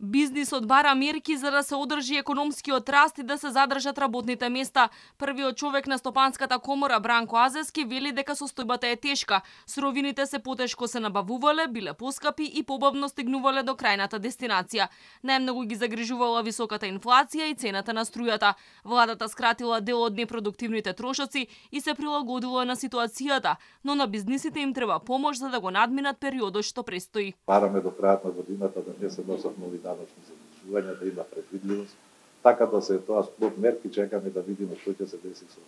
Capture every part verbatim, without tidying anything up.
Бизнисот бара мерки за да се одржи економскиот раст и да се задржат работните места. Првиот човек на Стопанската комора Бранко Азески вели дека состојбата е тешка. Суровините се потешко се набавувале, биле поскапи и побавно стигнувале до крајната дестинација. Најмногу ги загрижувала високата инфлација и цената на струјата. Владата скратила дел од непродуктивните трошоци и се прилагодила на ситуацијата, но на бизнисите им треба помош за да го надминат периодот што престои. Бараме до крајот на годината да не се носат нови даночни задолжувања, да има предвидливост, така да се тоа сплот мерки, чекаме да видиме што ќе се деси со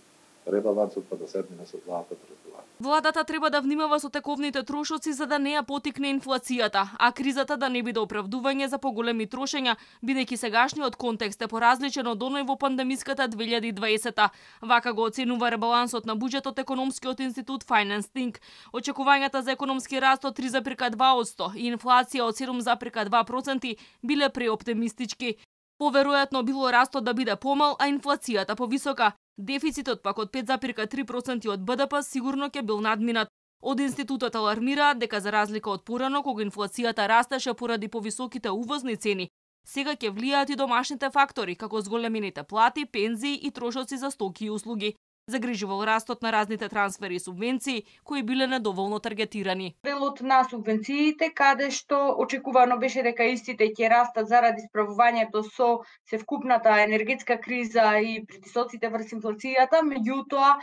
ребалансот, па да седнеме со владата преговара. Владата треба да внимава со тековните трошоци за да не ја потикне инфлацијата, а кризата да не биде оправдување за поголеми трошења, бидејќи сегашниот контекст е поразличен од оној во пандемиската две илјади и дваесета. Вака го оценува ребалансот на буџетот економскиот институт FinanceThink. Очекувањата за економски раст од три зарез два одсто и инфлација од седум зарез два проценти биле преоптимистички. Поверојатно било растот да биде помал, а инфлацијата повисока. Дефицитот пак од пет зарез три проценти од БДП сигурно ќе бил надминат. Од институтот алармираат дека за разлика од порано кога инфлацијата растеше поради повисоките увозни цени, сега ќе влијаат и домашните фактори, како зголемените плати, пензии и трошоци за стоки и услуги. Загрижувал растот на разните трансфери и субвенции, кои биле недоволно таргетирани. Делот на субвенциите, каде што очекувано беше дека истите ќе растат заради справувањето со севкупната енергетска криза и притисоците врз инфлацијата, меѓутоа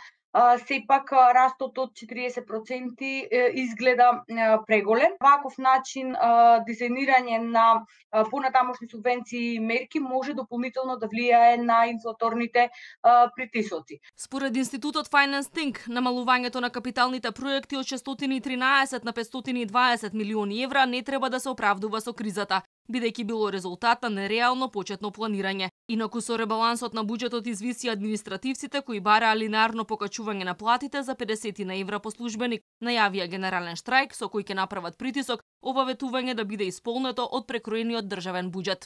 сепак растот од четириесет проценти изгледа преголем. Ваков начин дизајнирање на понатамошни субвенции и мерки може дополнително да влијае на инфлаторните притисоци. Според институтот FinanceThink, намалувањето на капиталните проекти од шестстотини и тринаесет на петстотини и дваесет милиони евра не треба да се оправдува со кризата, бидејќи било резултат на нереално почетно планирање. Инаку со ребалансот на буџетот извиси административците кои бараа линарно покачување на платите за педесет евра по службеник, најавија генерален штрајк со кој ќе направат притисок ова ветување да биде исполнето од прекроениот државен буџет.